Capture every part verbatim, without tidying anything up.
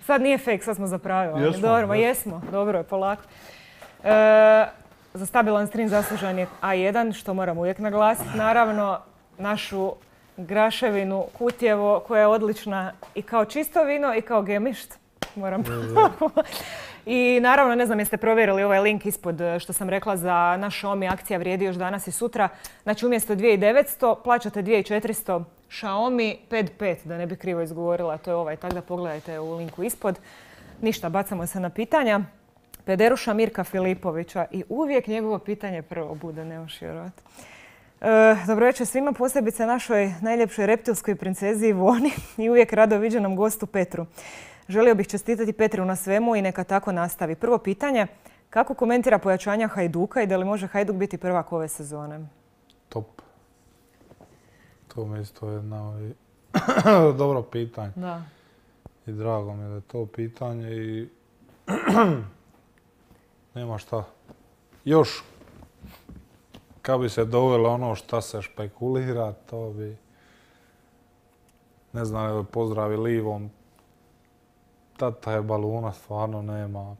Sad nije fake, sad smo zapravili. Jesmo, dobro, ma jesmo. jesmo, dobro je, polako. E, za stabilan stream zaslužan je A jedan, što moram uvijek naglasiti. Naravno, našu Graševinu Kutjevo, koja je odlična i kao čisto vino i kao gemišt. Moram I naravno, ne znam jeste provjerili ovaj link ispod što sam rekla za naš Xiaomi, akcija vrijedi još danas i sutra. Znači umjesto dvije tisuće devetsto plaćate dvije tisuće četiristo Xiaomi Pad pet, da ne bi krivo izgovorila, to je ovaj, tako da pogledajte u linku ispod. Ništa, bacamo se na pitanja. Pederuša Mirka Filipovića i uvijek njegovo pitanje prvo bude, ne možeš vjerovati. E, dobro večer svima, posebice našoj najljepšoj reptilskoj princezi Ivoni i uvijek rado viđenom gostu Petru. Želio bih čestitati Petru na svemu i neka tako nastavi. Prvo pitanje, kako komentira pojačanja Hajduka i da li može Hajduk biti prvak ove sezone? Top. To mi isto jedno dobro pitanje. Da. I drago mi je da je to pitanje i nema šta. Još kad bi se dovelo ono šta se špekulira, to bi, ne znam, evo pozdravi Livom. Tata je baluna, stvarno nema.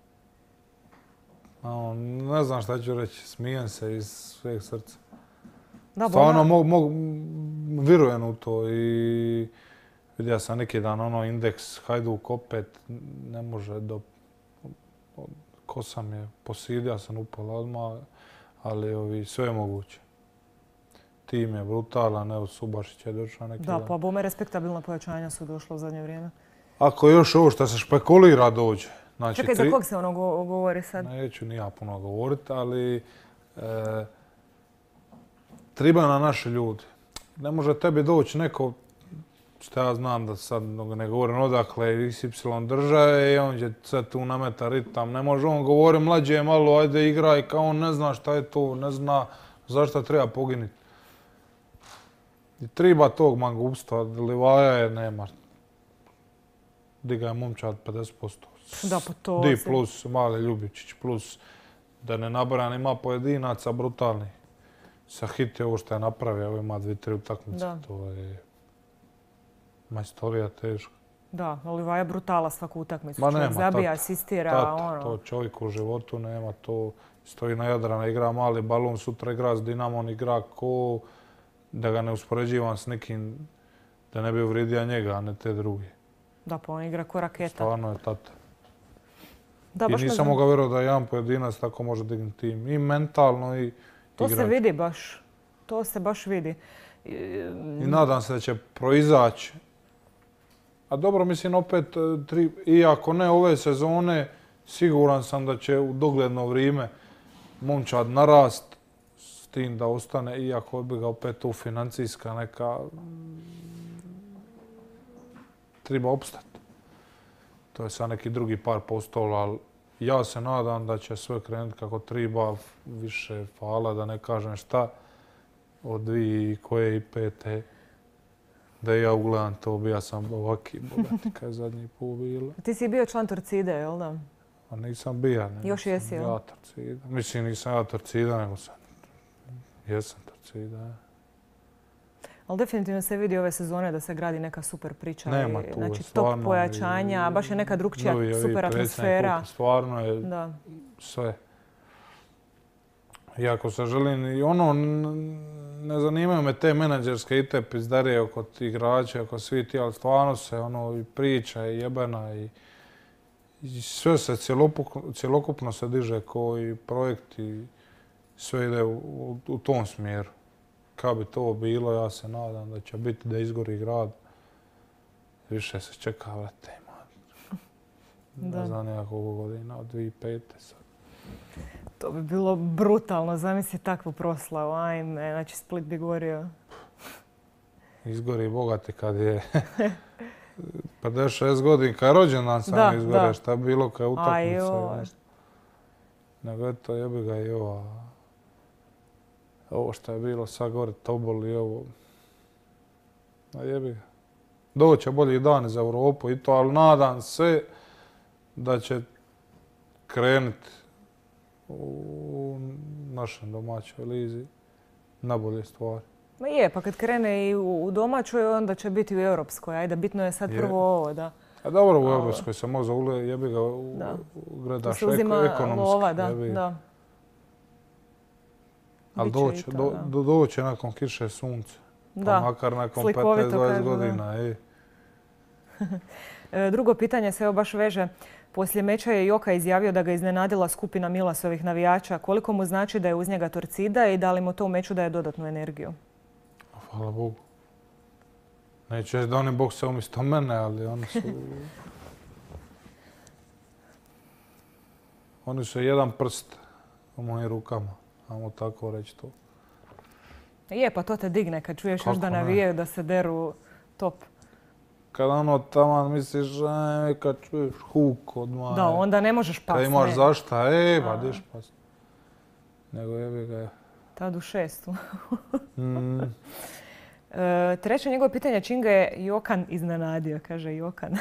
Ne znam šta ću reći, smijem se iz sveg srca. Da, stvarno mo, mo, vjerujem u to i vidio sam neki dan ono indeks Hajduk opet ne može do... Ko sam je, posidio sam upola odmah, ali ovi, sve je moguće. Tim je brutalan, evo Subašić je došao neki da, dan. Da, pa bome respektabilna pojačanja su došla u zadnje vrijeme. Ako još ovo što se špekulira dođe. Znači, čekaj, tri... za kog se ono go govori sad? Neću ni ja puno govoriti, ali e, treba na naše ljudi. Ne može tebi doći neko, što ja znam da sad ne govorim odakle, iks ipsilon države i on će sad tu nameta ritam. Ne može on govori, mlađe je malo, ajde igraj, kao on ne zna šta je to, ne zna zašto treba poginiti. I treba tog mangupstva, Livaja je nema. Diga je momčad pedeset posto. Da, pa to... Di plus, Mali Ljubičić plus, da ne nabrajam, ima pojedinaca brutalni. Sa hit je ovo što je napravio, evo ima dvije, tri utakmice. To je majstorija teška. Da, Livaja je brutala svaku utakmicu. Ma čovjek nema, zabija, tata, asistira, tata, ono... To čovjek u životu nema, to stoji na Jadrana, igra mali balon, sutra igra s Dinamom, igra ko... Da ga ne uspoređivam s nekim, da ne bi uvrijedio njega, a ne te druge. Da, pa on igra ko raketa. Stvarno je tata. Da, I nisam mogao vjerovati da jedan pojedinac tako može dignuti tim. I mentalno i to igrač. Se vidi baš. To se baš vidi. I, I nadam se da će proizaći. A dobro, mislim, opet, tri, iako ne ove sezone, siguran sam da će u dogledno vrijeme momčad narast s tim da ostane, iako bi ga opet tu financijska neka... Treba opstati. To je sad neki drugi par postola, ali ja se nadam da će sve krenuti kako treba, više fala, da ne kažem šta, od dvije koje i pete, da ja ugledam to, bija sam ovaki bogati kad je zadnji put bilo. Ti si bio član Torcide, jel da? A nisam bija, ne. Još jesi, jel? Ja Torcida. Mislim, nisam ja Torcida, nego sam, jesam Torcida. Ali definitivno se vidi ove sezone da se gradi neka super priča. Nema tu, znači, stvarno. Top pojačanja, baš je neka drugčija super atmosfera. Stvarno je da. Sve. Iako se želim, i ono, ne zanimaju me te menadžerske i te pizdarije oko igrača, oko svi ti, ali stvarno se ono i priča i jebena i, i sve se cjelokupno, cjelokupno se diže koji projekt i sve ide u, u, u tom smjeru. Kad bi to bilo, ja se nadam da će biti da izgori grad. Više se čeka, vrate, ne znam nijakog godina, od dvije tisuće pete sad. To bi bilo brutalno, zamisli takvu proslavu, ajme, znači Split bi gorio. Izgori bogati kad je pedeset šest godina, kad je rođendan sam izgore, šta bi bilo kad je utakmica. Nego eto, jebi ga i ova. Ovo što je bilo sad gore, Tobol i ovo. A jebi ga. Doće bolji dani za Europu i to, ali nadam se da će krenuti u našem domaćoj lizi na bolje stvari. Ma je, pa kad krene i u, u domaćoj, onda će biti u europskoj. Ajde, bitno je sad Je. prvo ovo, da. A dobro, u europskoj se može ule, jebi ga, u, Da. gledaš Tu se uzima eko, ekonomski. lova, da, jebi. da. Ali Bit će doće, i to, do, da. do, doće nakon kiše sunce. Da. Pa makar nakon Slikovito petnaest dvadeset kažu, da. godina. ej. E, Drugo pitanje se evo baš veže. Poslije meča je Joka izjavio da ga iznenadila skupina Milasovih navijača. Koliko mu znači da je uz njega Torcida i da li mu to u meču daje dodatnu energiju? Hvala Bogu. Neću reći da oni bokse umjesto mene, ali oni su... oni su jedan prst u mojim rukama. Ajmo tako reći to. Je, pa to te digne kad čuješ još Kako da ne? navijaju da se deru top. Kad ono taman misliš, aj, kad čuješ huk odmah. Da, onda ne možeš past. Kad imaš ne. zašta, e, pa A. diš past. Nego jebi ga. Tad u šestu. Mm, E, treće njegovo pitanje, čim ga je Jokan iznenadio, kaže Jokan.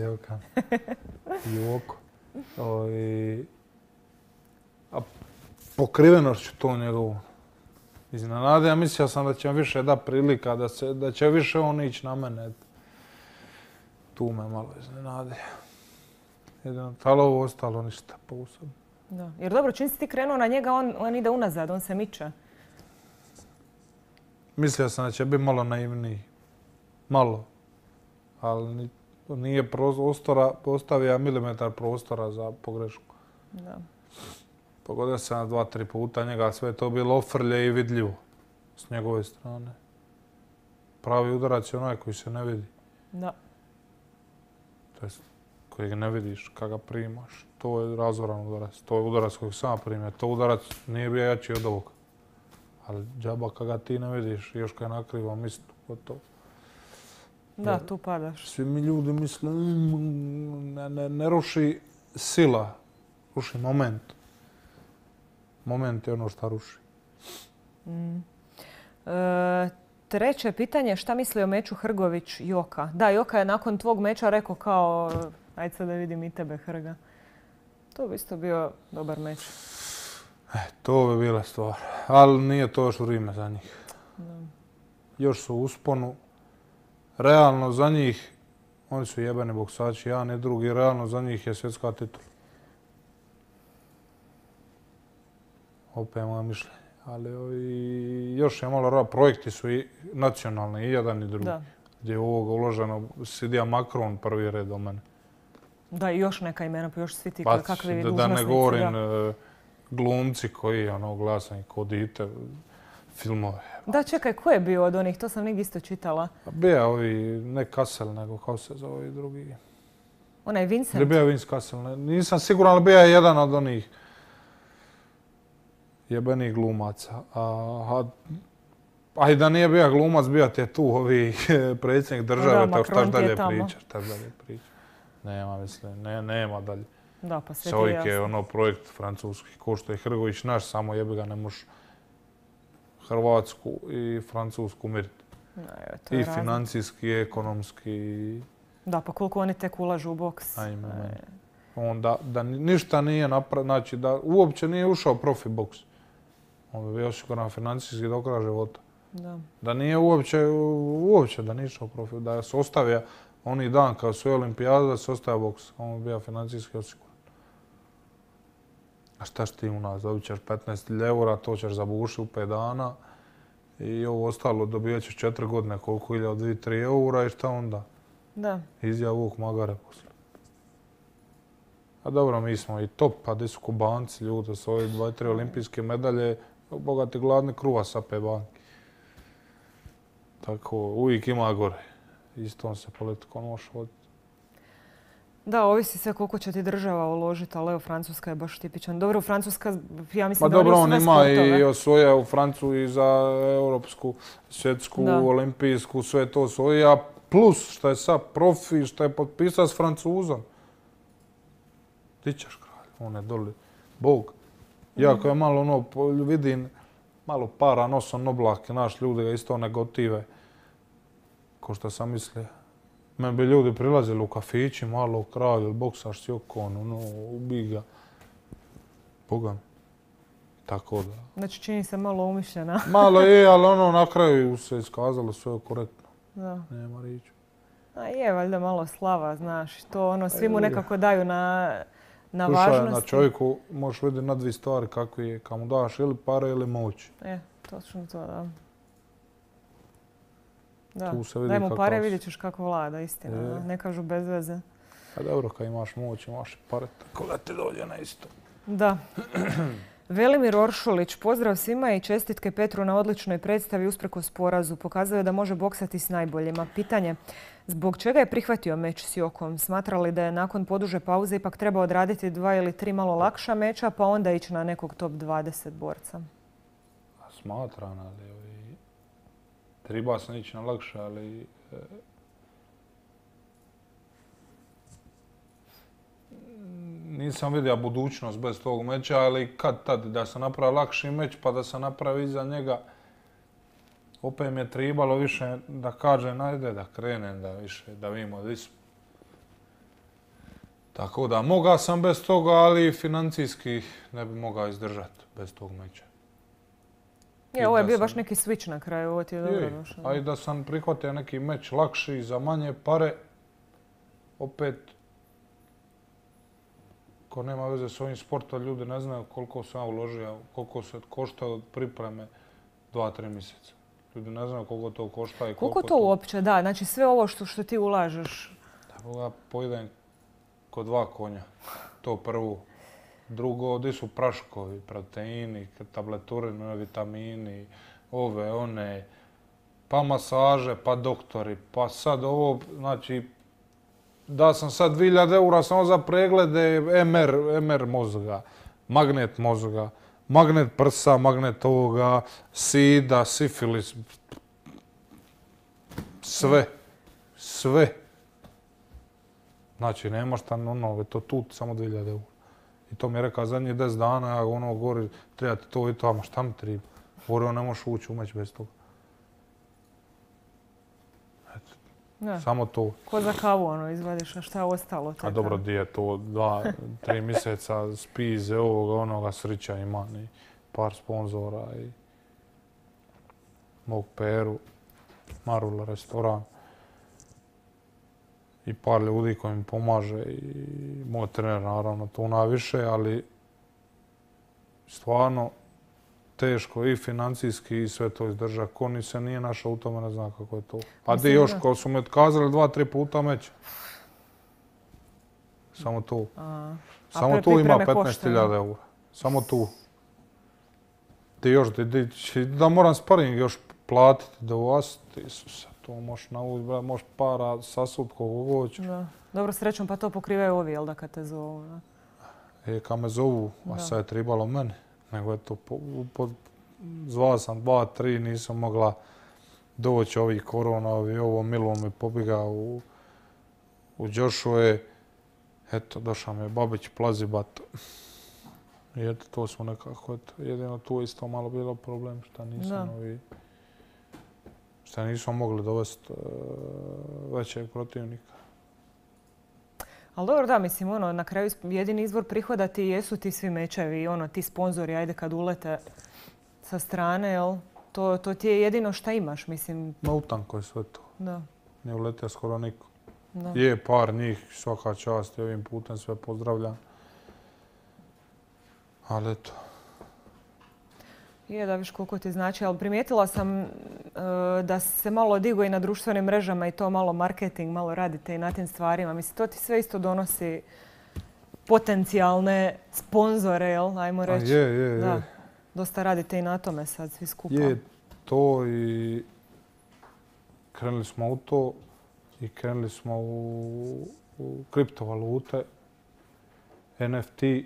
Jokan. Joko. Ovi... A pokrivenošću to njegovu. Iznenade, ja mislio sam da će više da prilika, da, se, da će više on ići na mene. Tu me malo iznenade. Jedino, ali ovo ostalo ništa posebno. Da. Jer dobro, čim si ti krenuo na njega, on, on ide unazad, on se miče. Mislio sam da će biti malo naivniji. Malo. Ali ni- nije prostora, ostavio milimetar prostora za pogrešku. Da. Pogodio sam na dva, tri puta njega, sve je to bilo ofrlje i vidljivo s njegove strane. Pravi udarac je onaj koji se ne vidi. Da. To jest, kojeg ne vidiš, kad ga primaš. To je razoran udarac. To je udarac kojeg sam primio. To udarac nije bio jači od ovog. Ali džaba kad ga ti ne vidiš, još kad je nakriva mistu, gotovo. Da, Jer tu padaš. Svi mi ljudi misle, "Mm, ne, ne, ne ruši sila, ruši moment. Moment je ono što ruši. Mm. E, treće pitanje, šta misli o meču Hrgović-Joka? Da, Joka je nakon tvog meča rekao kao, ajde sad da vidim i tebe, Hrga. To bi isto bio dobar meč. E, to bi bila stvar. Ali nije to još vrijeme za njih. Da. Još su u usponu. Realno za njih, oni su jebeni boksači, jedan i drugi, realno za njih je svjetska titula. Opet je moje mišljenje. Ali ovi, još je malo rada. Projekti su i nacionalni, i jedan i drugi. Da. Gdje je ovoga uloženo, sidija Macron prvi red do mene. Da, i još neka imena, pa još svi ti Pa, kakvi da, dužnosnici. da ne govorim da. e, glumci koji ono glasan ko dite, filmove. Da, čekaj, ko je bio od onih? To sam negdje isto čitala. Pa bija ovi, ne Kassel, nego kako se zove ovi drugi. Onaj Vincent. Ili bija Vince Kassel, ne, nisam siguran, ali bija je jedan od onih jebenih glumaca. A, a, a i da nije bija glumac, bija ti je tu ovi predsjednik države, Da, tako šta Macron ti je dalje tamo. pričaš, šta dalje pričaš. Nema, mislim, ne, nema dalje. Da, pa sve ti je Čovjek je jasno. ono projekt francuski, ko što je Hrgović naš, samo jebi ga ne možeš Hrvatsku i Francusku miriti. Da, evo, to je I razlika. financijski, i ekonomski, i Da, pa koliko oni tek ulažu u boks. ajme. E, meni. Onda da ni- ništa nije napravio, znači da uopće nije ušao profi boks. On bi bio osiguran financijski do kraja života. Da. Da nije uopće, uopće da nije išao profi, da se ostavio oni dan kao su olimpijade, da se ostavio boks. On bi bio financijski osiguran. A šta ti u nas? Dobit ćeš petnaest hiljada eura, to ćeš zabušiti u pet dana. I ovo ostalo dobijat ćeš četiri godine, koliko hiljada, dvije, tri eura i šta onda? Da. Izjav Vuk Magare poslije. A dobro, mi smo i top, pa gdje su Kubanci, ljudi, s ove dva, tri olimpijske medalje, bogati gladni kruva sape banki. Tako, uvijek ima gore. Istom se politikom može voditi. Da, ovisi sve koliko će ti država uložiti, ali evo, Francuska je baš tipičan. Dobro, Francuska, ja mislim Ma da oni dobro, u on sve ima sportove. i osvoja u Francu i za europsku, svjetsku, Da. olimpijsku, sve to osvoja. Plus što je sad profi, što je potpisao s Francuzom. Ti ćeš kralj, on je doli bog. Iako je malo ono, po- vidim, malo para nosom oblake, naš ljudi ga isto ne gotive. Ko što sam mislio. Meni bi ljudi prilazili u kafići, malo kralj, ili boksaš s Jokom, ono, ubij ga. Boga mi. Tako da. Znači čini se malo umišljena. Malo je, ali ono na kraju se iskazalo sve korektno. Da. Nema riječi. A je, valjda malo slava, znaš. To ono, svi mu nekako daju na, na Slušaj, važnosti. na čovjeku možeš vidjeti na dvije stvari kako je. Kad mu daš ili pare ili moć. E, točno to, da. Da, Tu se vidi daj mu kakav pare, si. vidjet ćeš kako vlada, istina. Je. Ne kažu bez veze. A dobro, kad imaš moć, imaš i pare, tako da ti dođe na isto. Da. Velimir Oršulić, pozdrav svima i čestitke Petru na odličnoj predstavi usprkos porazu. Pokazao je da može boksati s najboljima. Pitanje, zbog čega je prihvatio meč s Jokom? Smatra li da je nakon poduže pauze ipak trebao odraditi dva ili tri malo lakša meča, pa onda ići na nekog top dvadeset borca? Smatram, ali ovi, treba sam ići na lakše, ali e, nisam vidio budućnost bez tog meča, ali kad tad da sam napravio lakši meč pa da sam napravio iza njega, opet mi je trebalo više da kažem, ajde da krenem, da više, da vidimo di smo. Tako da, mogao sam bez toga, ali financijski ne bi mogao izdržati bez tog meča. Je, ovo je bio baš neki switch na kraju, ovo ti je dobro došlo. A i da sam prihvatio neki meč lakši za manje pare, opet, ko nema veze s ovim sportom, ljudi ne znaju koliko sam ja uložio, koliko se košta od pripreme dva, tri mjeseca. Ljudi ne znaju koliko to košta i koliko, Koliko to uopće, da, znači sve ovo što, što ti ulažeš? Da, ja pojedem ko dva konja, to prvo. Drugo, gdje su praškovi, proteini, tableturine, vitamini, ove, one, pa masaže, pa doktori, pa sad ovo, znači, da sam sad dvije hiljade eura samo za preglede em er, em er mozga, magnet mozga, magnet prsa, magnet ovoga, sida, sifilis, sve, sve. Znači, nemaš tam ono, to tu samo dvije hiljade eura. I to mi je rekao zadnjih deset dana, ja ono govori, treba ti to i to, a ma šta mi treba? Govori, on ne možeš ući u meć bez toga. Eto, Da. samo to. Ko za kavu ono izvadiš, a šta je ostalo? A dobro, di je to dva, tri mjeseca spize ovoga, onoga, srića ima i par sponzora i mog Peru, Marula restoran. I par ljudi koji mi pomaže i moj trener naravno tu najviše, ali stvarno teško i financijski i sve to izdržati. Ko ni se nije našao u tome, ne zna kako je to. A di još, ko su me otkazali dva, tri puta meć. Samo tu. A, Samo tu ima petnaest hiljada eura. Samo tu. Ti još, di, di, da moram sparing još platiti, da uvasti, Isuse. To možeš navući, možeš para sasut koliko hoćeš. Da. Dobro, srećom pa to pokrivaju ovi, jel da, kad te zovu? Da? E, kad me zovu, a sad je trebalo meni, nego je to, po, po, zvao sam dva, tri, nisam mogla doći ovih korona, ovi, ovo Milo mi pobjegao u, u Joshua. Eto, došao mi je Babić Plazibat. I eto, to smo nekako, eto, jedino tu isto malo bilo problem, šta nisam ovi... Šta nismo mogli dovesti uh, većeg protivnika. Ali dobro, da, mislim, ono, na kraju jedini izvor prihoda ti jesu ti svi mečevi, ono, ti sponzori, ajde kad ulete sa strane, jel? To, to ti je jedino šta imaš, mislim. Ma utanko je sve to. Da. Nije uletio skoro niko. Da. Je par njih, svaka čast i ovim putem sve pozdravljam. Ali eto. Je, da viš koliko ti znači, ali primijetila sam uh, da se malo digo i na društvenim mrežama i to malo marketing, malo radite i na tim stvarima. Mislim, to ti sve isto donosi potencijalne sponzore, jel? Ajmo reći. A je, je, da. je. Dosta radite i na tome sad, svi skupa. Je to i krenuli smo u to i krenuli smo u, u kriptovalute, en ef te.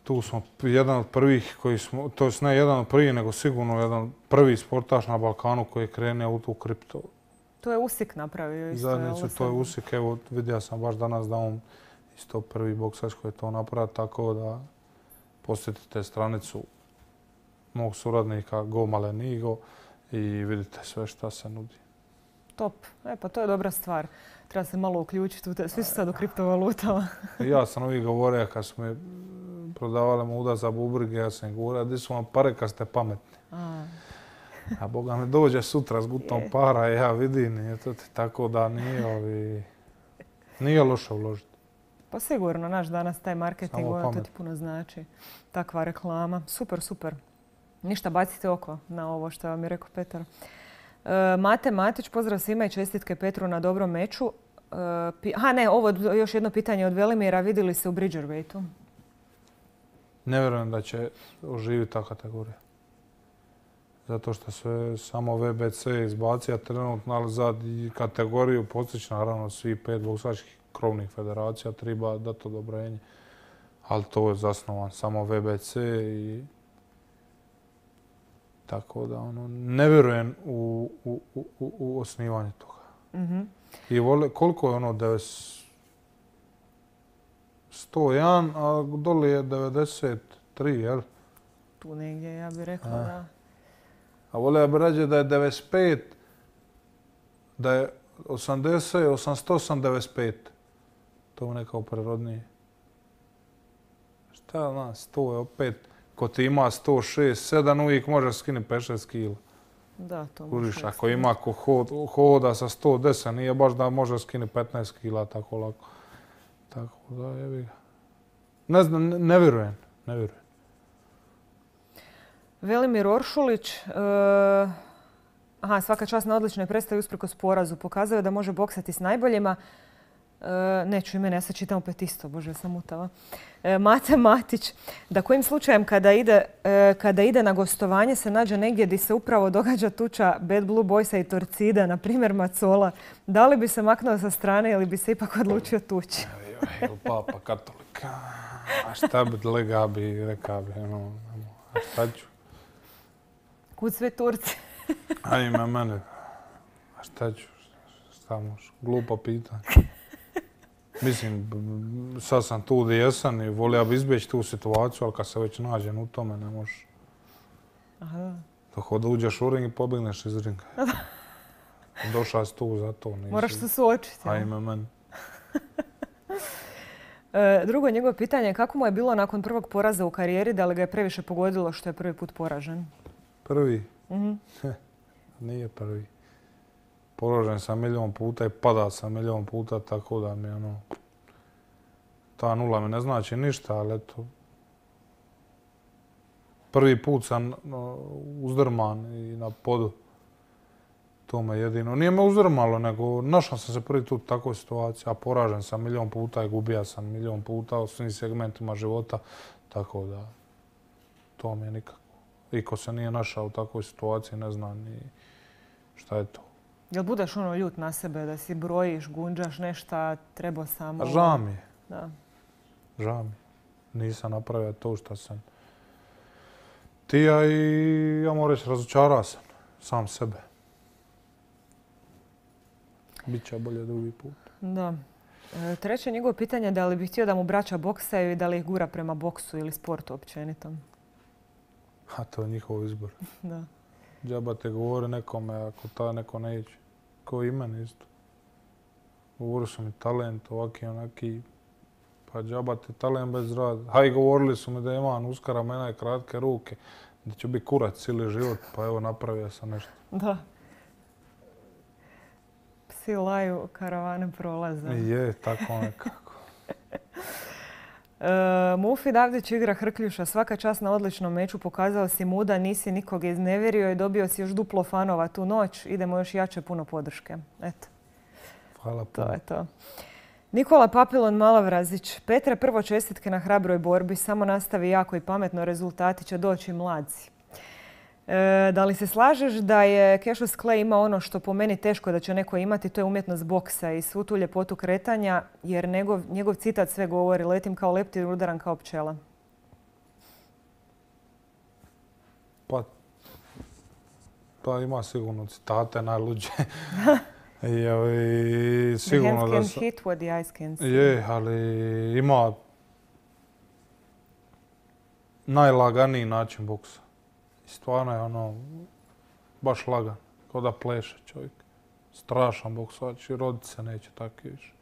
Tu smo jedan od prvih koji smo, to je ne jedan od prvih, nego sigurno jedan prvi sportaš na Balkanu koji je krenuo u tu kripto. To je Usik napravio isto. Zajednicu, to je Usik, evo vidio sam baš danas da on isto prvi boksač koji je to napravio, tako da posjetite stranicu mog suradnika Go Malenigo i vidite sve šta se nudi. Top. E pa to je dobra stvar. Treba se malo uključiti u te. Svi su sad u kriptovalutama. Ja sam uvijek govorio kad smo prodavali muda za bubrige, ja sam govorio, di su vam pare kad ste pametni. A, A Boga mi dođe sutra s gutom Je. para i ja vidim, eto ti, tako da nije, ovi, nije loše uložiti. pa sigurno, naš danas taj marketing, Samo ono, to pamet. ti puno znači. Takva reklama. Super, super. Ništa, bacite oko na ovo što vam je rekao Petar. E, Mate Matić, pozdrav svima i čestitke Petru na dobrom meču. E, pi- Aha, ne, ovo još jedno pitanje od Velimira. Vidjeli se u Bridgerweightu? Ne vjerujem da će oživiti ta kategorija. Zato što se samo V B C izbacija trenutno, ali za kategoriju postići naravno svi pet boksačkih krovnih federacija treba dati odobrenje. Ali to je zasnovan samo V B C i tako da ono, ne vjerujem u, u, u, u osnivanje toga. Mhm. I vole, koliko je ono devedeset sto jedan, a dole je devedeset tri, jel? Tu negdje, ja bih rekla, A. da. A volio bi reći da je devedeset pet, da je osamdeset, osamdeset osam, devedeset pet. To je nekako prirodnije. Šta ja znam, sto je opet, ko ti ima sto šest, sedam, uvijek može skinuti pet šest kila. Da, to Kužiš, može ako ima ko hod, hoda sa sto deset, nije baš da može skinuti petnaest kila tako lako. Tako da, jebi ga. Ne znam, ne, ne vjerujem, ne vjerujem. Velimir Oršulić, e, aha, svaka čast na odličnoj predstavi usprkos porazu. Pokazao je da može boksati s najboljima. E, neću ime, ja sad čitam opet isto, bože, sam mutava. E, Mate Matić, da kojim slučajem kada ide, e, kada ide na gostovanje se nađe negdje gdje se upravo događa tuča Bad Blue Boysa i Torcida, na primjer Macola, da li bi se maknuo sa strane ili bi se ipak odlučio tući? Jel papa katolika, a šta bi lega bi, reka bi, ono, a šta ću? Kud sve Turci? Ajme mene, a šta ću, šta može, glupo pitanje. Mislim, b- sad sam tu gdje jesam i volio bi izbjeći tu situaciju, ali kad se već nađem u tome, ne možeš. Aha. Dok da uđeš u ring i pobjegneš iz ringa. Došao si tu za to, nisi. Moraš se suočiti. jel? Ajme mene. E, drugo njegovo pitanje je kako mu je bilo nakon prvog poraza u karijeri, da li ga je previše pogodilo što je prvi put poražen? Prvi, Mhm. nije prvi. Poražen sam milion puta i pada sam milion puta, tako da mi ono... Ta nula mi ne znači ništa, ali eto... Prvi put sam no, uzdrman i na podu. To me jedino. Nije me uzdrmalo, nego našao sam se prvi put u takvoj situaciji, a poražen sam milion puta i gubija sam milion puta u svim segmentima života, tako da to mi je nikako. I ko se nije našao u takvoj situaciji, ne zna ni šta je to. Jel budeš ono ljut na sebe da si brojiš, gunđaš nešto, trebao sam... A žao mi je, Da. žao mi je. Nisam napravio to što sam tija i ja moram reći razočarao sam sam sebe. Biće bolje drugi put. Da. E, treće njegovo pitanje je da li bi htio da mu braća boksaju i da li ih gura prema boksu ili sportu općenito. A to je njihov izbor. Da. Džaba te govori nekome ako ta neko ne iće. Ko i meni isto. Govorili su mi talent, ovaki onaki. Pa džaba te talent bez rada. Ha i govorili su mi da imam uska ramena i kratke ruke. Da ću biti kurac cijeli život. Pa evo napravio sam nešto. Da. Psi laju, karavane prolaze. Je, tako nekako. E, Mufi Davdić igra Hrkljuša. Svaka čast na odličnom meču. Pokazao si muda, nisi nikog iznevjerio i dobio si još duplo fanova tu noć. Idemo još jače, puno podrške. Eto, Hvala to puno. je to. Nikola Papilon Malavrazić. Petre, prvo čestitke na hrabroj borbi. Samo nastavi jako i pametno. Rezultati će doći mladci. E, da li se slažeš da je Cassius Clay imao ono što po meni teško da će neko imati, to je umjetnost boksa i svu tu ljepotu kretanja, jer njegov, njegov citat sve govori, letim kao leptir, udaram kao pčela. Pa, pa ima sigurno citate najluđe. I, ovi, The sigurno hands da can sam... hit what the eyes can see. Je, ali ima najlaganiji način boksa. I stvarno je ono, baš lagan, kao da pleše čovjek. Strašan boksač i rodit se neće takvi više.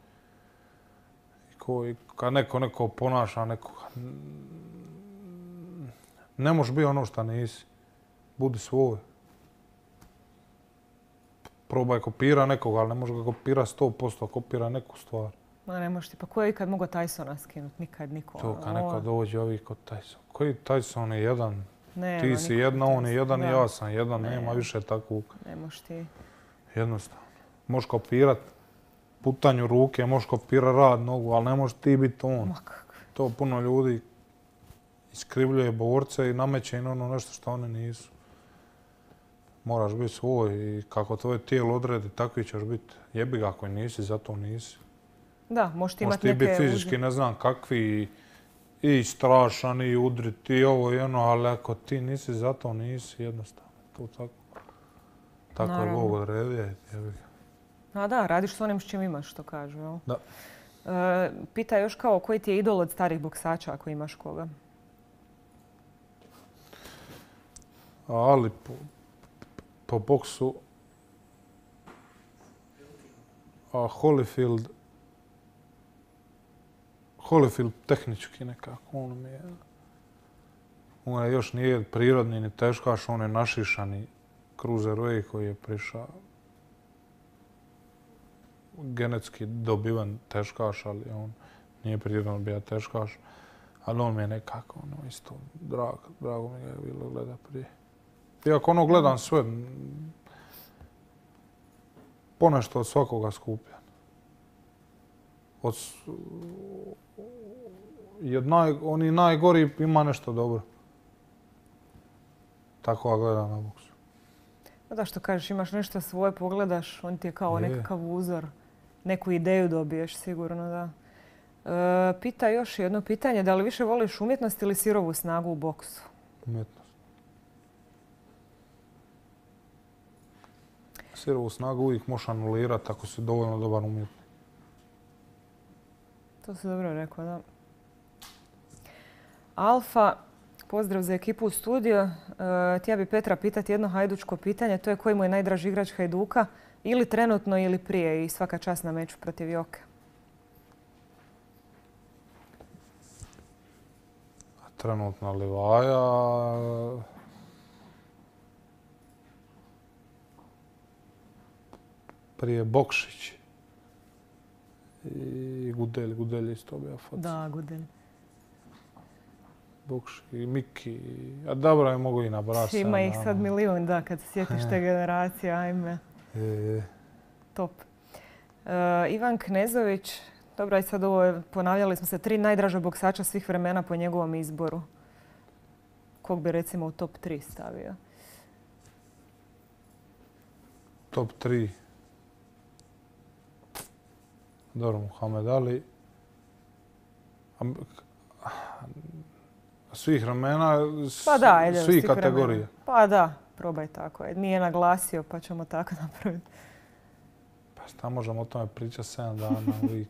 I neko, i kad neko neko ponaša nekoga, ne možeš biti ono što nisi. Budi svoj. Probaj kopira nekoga, ali ne može ga kopira sto posto, kopira neku stvar. Ma ne možeš ti, pa ko je ikad mogao Tysona skinuti? Nikad niko. To kad neko dođe ovih kod Tyson. Koji Tyson je jedan? Nema, ti si jedna, on je jedan i ja sam jedan. Ne. Nema više takvog. Ne možeš ti. Jednostavno. Možeš kopirat putanju ruke, možeš kopirat rad nogu, ali ne možeš ti biti on. Ma kako? To puno ljudi iskrivljuje borce i nameće im ono nešto što oni nisu. Moraš biti svoj i kako tvoje tijelo odredi, takvi ćeš biti. Jebi ga ako nisi, zato nisi. Da, možeš ti imati neke... Možeš ti biti fizički uzde. ne znam kakvi i strašan i udrit i ovo i ono, ali ako ti nisi, zato nisi jednostavno. To tako. Tako je Bog odredio. Jebi ga. A da, radiš s onim s čim imaš, što kažu. Jel? Da. E, pita još kao koji ti je idol od starih boksača ako imaš koga? Ali po, po boksu a Holyfield Holyfield tehnički nekako, on mi je on je još nije prirodni ni teškaš, on je našišani cruiserweight koji je prišao genetski dobiven teškaš, ali on nije prirodno bio teškaš, ali on mi je nekako ono isto drag, drago mi ga je bilo gleda prije. Iako ono gledam sve, ponešto od svakoga skupljan. Od, i od naj, oni najgori ima nešto dobro. Tako ga gledam na boksu. Pa da što kažeš, imaš nešto svoje, pogledaš, on ti je kao je. nekakav uzor. Neku ideju dobiješ sigurno, da. E, pita još jedno pitanje, da li više voliš umjetnost ili sirovu snagu u boksu? Umjetnost. Sirovu snagu uvijek možeš anulirati ako si dovoljno dobar umjetnik. To si dobro rekao, da. Alfa, pozdrav za ekipu u studiju. E, htio bi Petra pitati jedno hajdučko pitanje, to je koji mu je najdraži igrač Hajduka, ili trenutno ili prije i svaka čast na meču protiv Joke. Trenutno Livaja, prije Bokšić i Gudelj. Gudelj isto bio foca. Da, Gudelj. Bokšić i Miki. A dobro je mogu i nabrati. Ima ih sad milijun, da, kad se sjetiš te generacije, ajme. Je. Top. Uh, Ivan Knezović, dobro, aj sad ovo je, ponavljali smo se, tri najdraža boksača svih vremena po njegovom izboru. Kog bi recimo u top tri stavio? Top tri. Dobro, Muhammed Ali. Svih vremena, pa da, ajde, svih kategorija. Pa da, probaj tako. Nije naglasio, pa ćemo tako napraviti. Pa šta možemo o tome pričati sedam dana uvijek.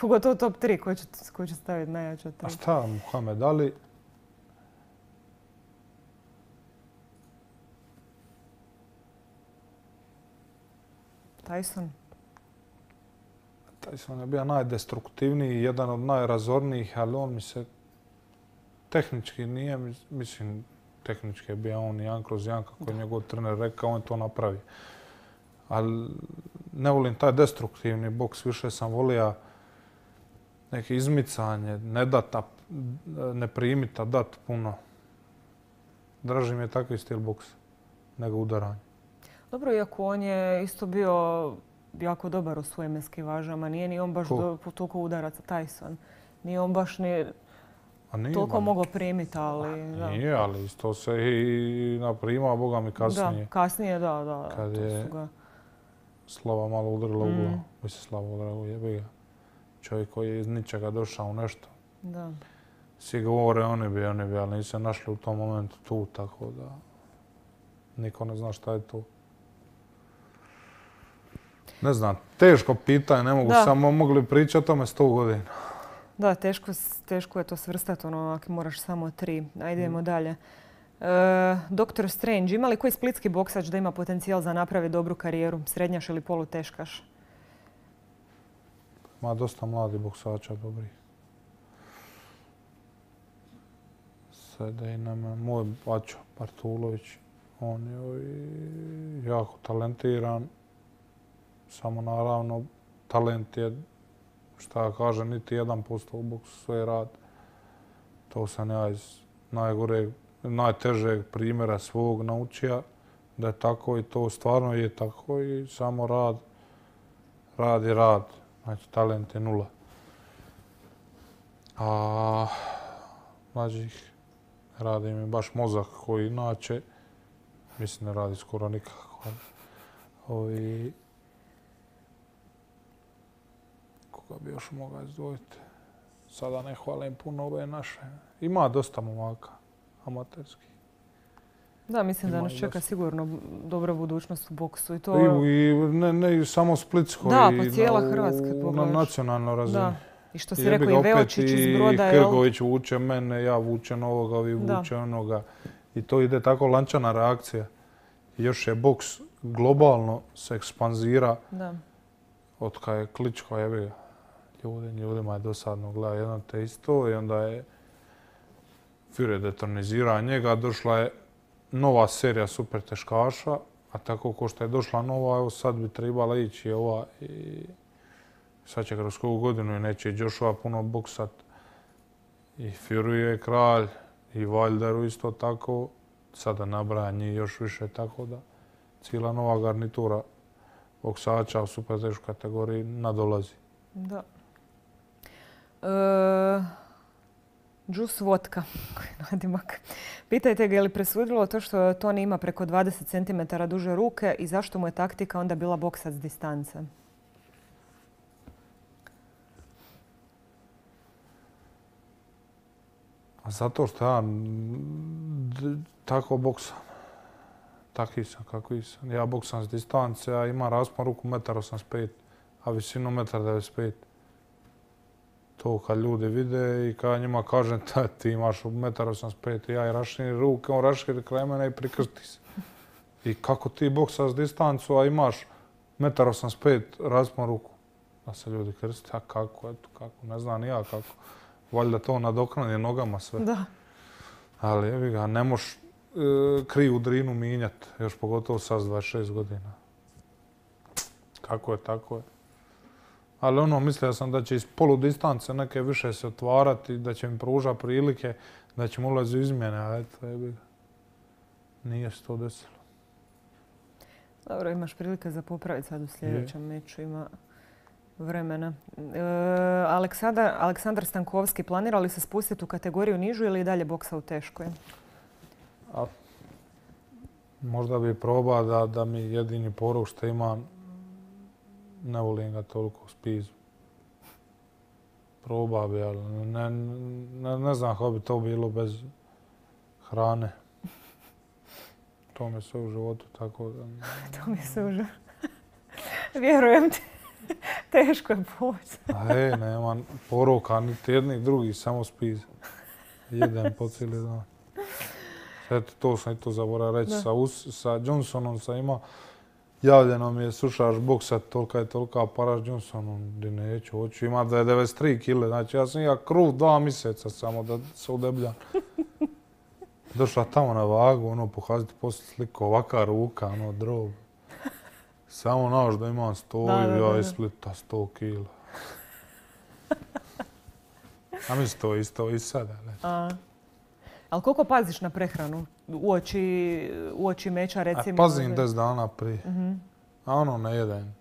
Pogotovo top tri, ko će, ko će staviti najjača tri? A šta, Muhammed Ali? Tyson? Tyson je bio najdestruktivniji, jedan od najrazornijih, ali on mi se tehnički nije, mislim, tehnički je bio on jedan kroz jedan, kako je njegov trener rekao, on to napravi. Ali ne volim taj destruktivni boks, više sam volio neke izmicanje, ne data, ne primita, dat puno. Draži mi je takvi stil boksa nego udaranje. Dobro, iako on je isto bio jako dobar u svojim eskivažama, nije ni on baš do, toliko udaraca Tyson. Nije on baš ni toliko mogao primiti, ali... Da. Nije, ali isto se i naprima, boga mi kasnije. Da, kasnije, da, da. Kad to je su ga... Slava malo udarila mm. u glavu. Mislim, Slava udarila u jebi ga. Čovjek koji je iz ničega došao u nešto. Da. Svi govore oni bi, oni bi, ali nisu se našli u tom momentu tu, tako da niko ne zna šta je to. Ne znam, teško pitanje, ne mogu da. Samo mogli pričati o tome sto godina. Da, teško, teško je to svrstati, ono, ako moraš samo tri. Ajde, idemo mm. dalje. E, doktor Strange, ima li koji splitski boksač da ima potencijal za napraviti dobru karijeru? Srednjaš ili poluteškaš? ima dosta mladih boksača dobrih. Sede i nama moj Bačo Bartulović, on je jako talentiran, samo naravno talent je, šta ja kažem, niti jedan posto u boksu sve rad. To sam ja iz najgoreg, najtežeg primjera svog naučio da je tako i to stvarno je tako i samo rad, rad i rad. Znači talent je nula. A mlađih radi mi baš mozak koji inače, mislim ne radi skoro nikako. Ovi, koga bi još mogao izdvojiti? Sada ne hvalim puno ove naše. Ima dosta momaka, amaterskih. Da, mislim da nas čeka sigurno dobra budućnost u boksu i to... I ne, ne samo Splitsko, da, i pa cijela na, Hrvatska na nacionalnoj razini. Da. I što si rekao, i Veočić iz Broda, jel? I Krgović vuče mene, ja vučem ovoga, vi vuče onoga. I to ide tako lančana reakcija. I još je boks globalno se ekspanzira. Da. Od kada je Kličko, jebi ga. Ljudima, ljudima je dosadno gleda jedno te isto i onda je Fury detronizirao njega, došla je nova serija super teškaša, a tako ko što je došla nova, evo sad bi trebala ići ova i sad će kroz koju godinu i neće Joshua puno boksat. I Fury je kralj, i Wilderu isto tako, sada nabraja njih još više, tako da cijela nova garnitura boksača u super teškoj kategoriji nadolazi. Da. E, Juice Vodka, koji je nadimak. Pitajte ga je li presudilo to što Tony ima preko dvadeset centimetara duže ruke i zašto mu je taktika onda bila boksat s distance? Zato što ja tako boksam. Taki sam kako sam. Ja boksam s distance, a imam raspon ruku jedan osamdeset pet, a visinu jedan devedeset pet. To kad ljudi vide i kad njima kažem da ti imaš jedan osamdeset pet i ja i rašini ruke, on raširi kraj mene i prikrsti se. I kako ti boksaš s distancu, a imaš jedan osamdeset pet raspon ruku? Da se ljudi krsti, a kako, eto, kako, ne znam ni ja kako. Valjda to nadoknadi nogama sve. Da. Ali evi ga, ne moš e, kriju drinu minjat, još pogotovo sad s dvadeset šest godina. Kako je, tako je. Ali ono, mislio sam da će iz poludistance neke više se otvarati, da će mi pružati prilike, da će mi ulaziti u izmjene, a eto, evi ga. Nije se to desilo. Dobro, imaš prilike za popraviti sad u sljedećem je. meču, ima vremena. E, Aleksandar, Aleksandar Stankovski, planira li se spustiti u kategoriju nižu ili i dalje boksa u teškoj? A, možda bi probao da, da mi jedini poruk što imam, ne volim ga toliko spizu. Probao bi, ali ne, ne, ne znam kako bi to bilo bez hrane. To mi se u životu tako da... To mi se u životu... Vjerujem ti. Teško je poći. E, nema poruka, niti jednih drugih, samo spiz. Jedem po cijeli dan. Eto, to sam i to zaboravio reći. Sa, sa Johnsonom sam imao, javljeno mi je slušaš boksat, tolika je tolika paraš Johnsonom, gdje neću, hoću. Ima devedeset tri kile, znači ja sam ja kruh dva mjeseca samo da se udebljam. Došla tamo na vagu, ono, pokazati poslije sliku, ovaka ruka, ono, drob. Samo znaš da imam sto i ja iz Splita sto kila. A mislim to isto i sada. Ali koliko paziš na prehranu uoči, uoči meča, recimo? A pazim deset dana prije. Uh-huh. A ono ne jedem.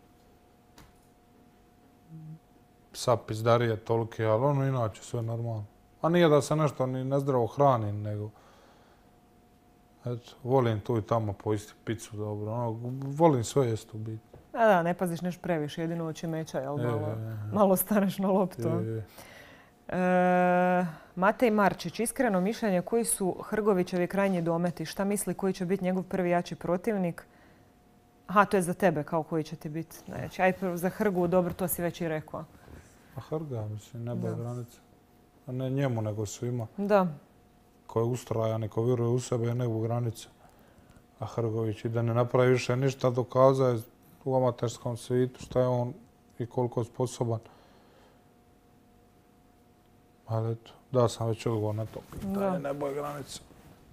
Sad pizdarije tolike, ali ono inače sve normalno. A nije da se nešto ni nezdravo hranim, nego... Eto, volim tu i tamo pojesti picu dobro. Ono, volim sve jest u biti. Da, da, ne paziš nešto previše, jedino uoči meča, jel? Malo, je, je, je. malo staneš na loptu. Je, je. E, Matej Marčić, iskreno mišljenje, koji su Hrgovićevi krajnji dometi? Šta misli koji će biti njegov prvi jači protivnik? Aha, to je za tebe, kao koji će ti biti. Znači, aj za Hrgu, dobro, to si već i rekao. A Hrga, mislim, nebo je granica. A ne njemu, nego svima. Da. Ko je ustrajan i ko vjeruje u sebe je nebo granica. A Hrgović i da ne napravi više ništa, dokazao je u amaterskom svijetu šta je on i koliko je sposoban. Ali eto, da sam već odgovor na to pitanje, Da. ne boje granice.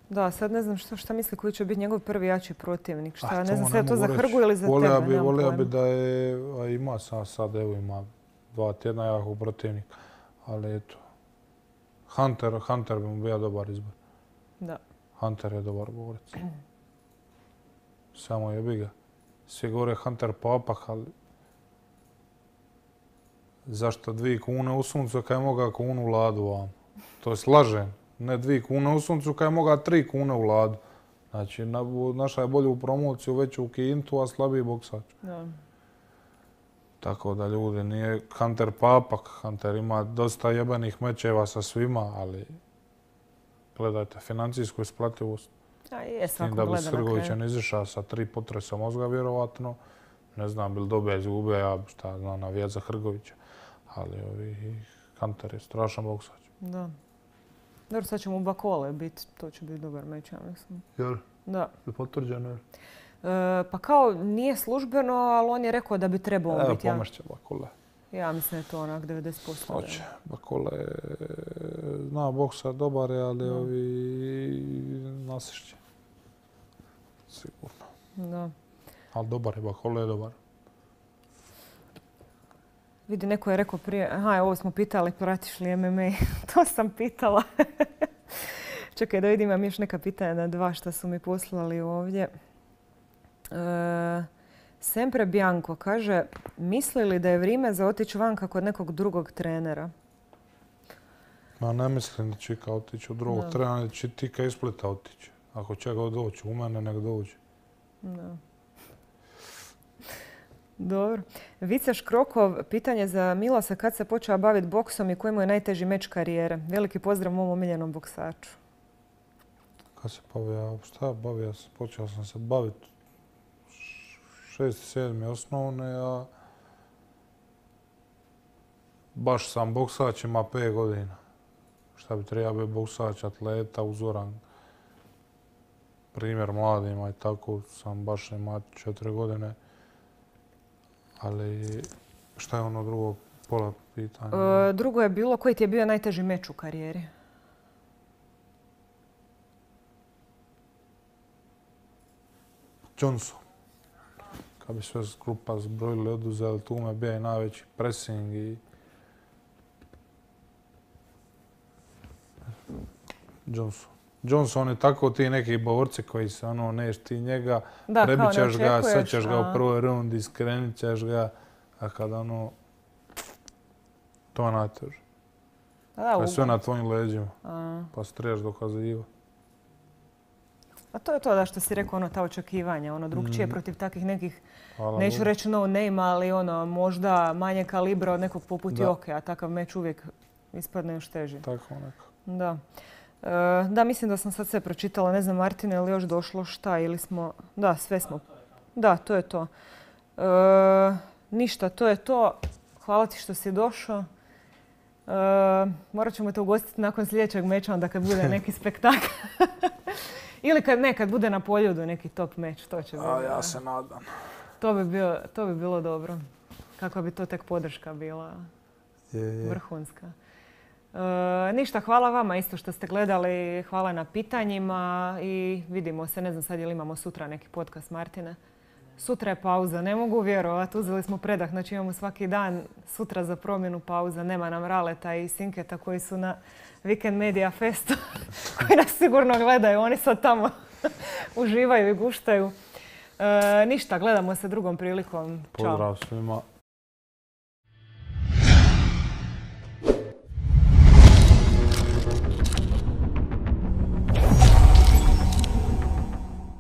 Da, sad ne znam što, šta misli koji će biti njegov prvi jači protivnik. Šta, Ah, ne znam to sve ne to za mogu Hrgu reći. ili za Volio tebe. bi, nemam volio bi pojma. da je, a ima sam sad, evo ima dva tjedna jakog protivnika. Ali eto, Hunter, Hunter bi mu bio dobar izbor. Da. Hunter je dobar borac. Samo jebi ga. Svi govore Hunter papak, ali zašto dvije kune u suncu kad je moga kunu u ladu vam? To je slažem. Ne dvije kune u suncu kad je moga tri kune u ladu. Znači, na, naša je bolju promociju, veću u kintu, a slabiji boksač. Da. Tako da ljudi, nije Hunter papak. Hunter ima dosta jebenih mečeva sa svima, ali gledajte, financijsku isplativost. A je, S tim svako da bi gleda s na kraju. Hrgovićem izišao sa tri potresa mozga, vjerovatno. Ne znam, bil dobija, izgubio, ja šta znam, navijat za Hrgovića. Ali ovi, Hunter je strašan boksač. Da. Dobro, sad će mu Bakole biti, to će biti dobar meč, ja mislim. Jer? Da. Je potvrđeno? E, pa kao nije službeno, ali on je rekao da bi trebao Evo, biti. Ja, pomršće Bakole. ja mislim da je to onak devedeset posto. Hoće. Bakole zna boksa, dobar je, ali Da. ovi nasišće. Sigurno. Da. Ali dobar je, Bakole je dobar. Vidi, neko je rekao prije, aha, ovo smo pitali, pratiš li M M A? To sam pitala. Čekaj da vidim, imam još neka pitanja na dva što su mi poslali ovdje. E, Sempre Bianco kaže, misli li da je vrijeme za otići vanka kod nekog drugog trenera? Ma ne mislim da će Ika otići u drugog Da. trenera, da će Tika iz Splita otići. Ako će ga doći u mene, nek dođe. Da. Dobro. Vica Škrokov, pitanje za Milosa, kad se počeo baviti boksom i koji mu je najteži meč karijere? Veliki pozdrav mom omiljenom boksaču. Kad se bavio, šta bavio sam, počeo sam se baviti šest, sedmi osnovne, a baš sam boksač, ima pet godina. Šta bi trebao biti boksač, atleta, uzoran primjer mladima i tako sam baš ima četiri godine. Ali šta je ono drugo pola pitanja? E, drugo je bilo, koji ti je bio najteži meč u karijeri? Johnson. Kad bi sve grupa zbrojili, oduzeli, tu me bio i najveći pressing i Johnson. Johnson je tako ti neki borci koji se ono, neš ti njega, Da, kao ne prebit ćeš ga, sad očekuješ, ćeš ga a- u prvoj rundi, skrenit ćeš ga, a kada ono, to je najteže. Pa da, To je sve ugo- na tvojim leđima, a, pa se trebaš dokazivati. a to je to da što si rekao, ono, ta očekivanja, ono, drugčije Mhm. protiv takvih nekih, Hvala neću Bogu. reći no name, ali ono, možda manje kalibra od nekog poput Da. Joke, a takav meč uvijek ispadne još teži. Tako neko. Da. E, da, mislim da sam sad sve pročitala. Ne znam, Martine, je li još došlo šta ili smo... Da, sve smo. Da, to je to. E, ništa, to je to. Hvala ti što si došao. E, morat ćemo te ugostiti nakon sljedećeg meča, onda kad bude neki spektakl. Ili kad ne, kad bude na Poljudu neki top meč. To će A biti. ja se nadam. To bi, bio, to bi bilo dobro. Kakva bi to tek podrška bila. Je, je. Vrhunska. E, ništa, hvala vama isto što ste gledali, hvala na pitanjima i vidimo se, ne znam sad je li imamo sutra neki podcast Martine. Sutra je pauza, ne mogu vjerovati, uzeli smo predah, znači imamo svaki dan sutra za promjenu pauza, nema nam Raleta i Sinketa koji su na Weekend Media Festu, koji nas sigurno gledaju, oni sad tamo uživaju i guštaju. E, ništa, gledamo se drugom prilikom. Ćao. Pozdrav svima.